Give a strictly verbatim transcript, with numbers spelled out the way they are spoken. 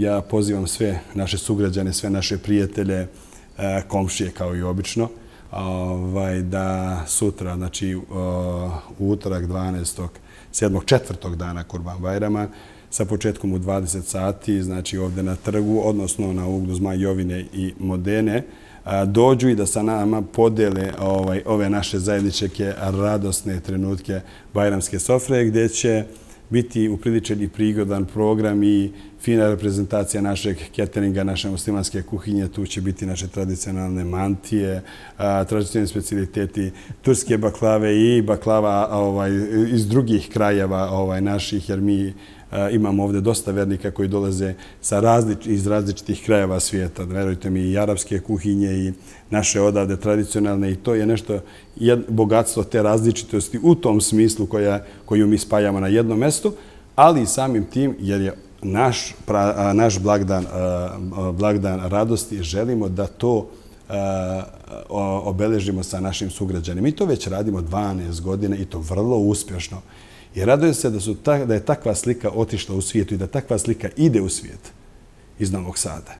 ja pozivam sve naše sugrađane, sve naše prijatelje, komšije kao i obično, da sutra, znači u utorak dvanaestog sedmog četvrtog dana Kurban Bajrama, sa početkom u dvadeset sati, znači ovdje na trgu, odnosno na uglu Zmaj Jovine i Modene, dođu i da sa nama podele ove naše zajedničke radosne trenutke Bajramske sofre, gdje će biti upriličen i prigodan program i fina reprezentacija našeg cateringa, naše muslimanske kuhinje. Tu će biti naše tradicionalne mantije, tradicionalni specialiteti, turske baklave i baklava iz drugih krajeva naših, jer mi imamo ovdje dosta vernika koji dolaze iz različitih krajeva svijeta. Verujte mi, i arapske kuhinje i naše odavde tradicionalne, i to je nešto, bogatstvo te različitosti u tom smislu koju mi spajamo na jednom mjestu, ali i samim tim, jer je naš blagdan radosti, želimo da to obeležimo sa našim sugrađanima. Mi to već radimo dvanaest godina i to vrlo uspješno. I radujem se da je takva slika otišla u svijetu i da takva slika ide u svijet iz Novog Sada.